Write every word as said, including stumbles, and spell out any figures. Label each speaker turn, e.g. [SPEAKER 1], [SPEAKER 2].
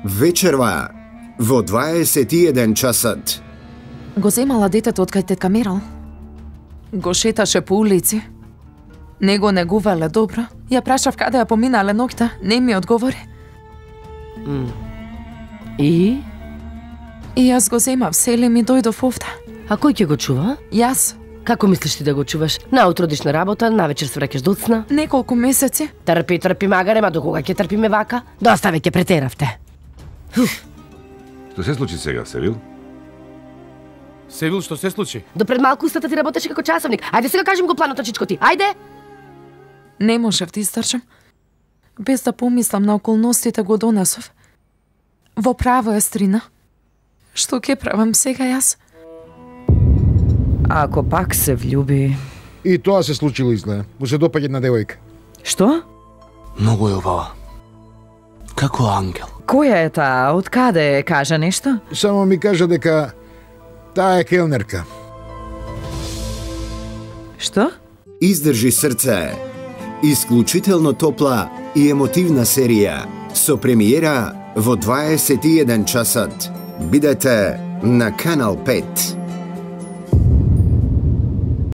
[SPEAKER 1] Вечерва во дваесет и еден часот.
[SPEAKER 2] Го земала детето од кај тетка Мерал. Го шеташе по улици. Не го негувале добро. Ја прашав каде ја поминале ноќта, не ми одговори.
[SPEAKER 3] Mm. И?
[SPEAKER 2] И јас го земав селим и дојдов овде.
[SPEAKER 3] А кој ќе го чува?
[SPEAKER 2] Јас.
[SPEAKER 3] Како мислиш ти да го чуваш? Наутро одиш на работа, навечер се враќаш до цна?
[SPEAKER 2] Неколку месеци.
[SPEAKER 3] Трпи, трпи, магаре, ма до кога ќе трпиме вака? Доста веќе претеравте.
[SPEAKER 4] Што се случи сега, Севил?
[SPEAKER 5] Севил, што се случи?
[SPEAKER 3] До пред малку устата ти работеше како часовник. Ајде сега кажем го планот на чичко ти. Ајде!
[SPEAKER 2] Не можев да издржам. Без да помислам на околностите го донесов. Во право е Стрина. Што ќе правам сега јас?
[SPEAKER 6] Ако пак се влюби...
[SPEAKER 7] И тоа се случило изгледа. Му се допаѓа една девојка.
[SPEAKER 6] Што?
[SPEAKER 5] Многу е убава. Како ангел.
[SPEAKER 6] Која е таа? Од каде? Кажа нешто?
[SPEAKER 7] Само ми кажа дека таа е келнерка.
[SPEAKER 6] Што?
[SPEAKER 1] Издржи срце. Исклучително топла и емотивна серија со премиера во дваесет и еден часот. Бидете на Канал пет.